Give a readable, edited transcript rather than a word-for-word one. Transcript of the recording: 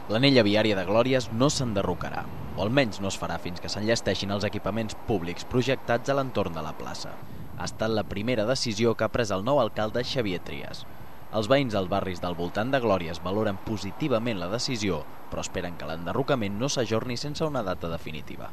L'anella viària de Glòries no s'enderrocarà, o almenys no es farà fins que s'enllesteixin els equipaments públics projectats a l'entorn de la plaça. Ha estat la primera decisió que ha pres el nou alcalde Xavier Trias. Els veïns dels barris del voltant de Glòries valoren positivament la decisió, però esperen que l'enderrocament no s'ajorni sense una data definitiva.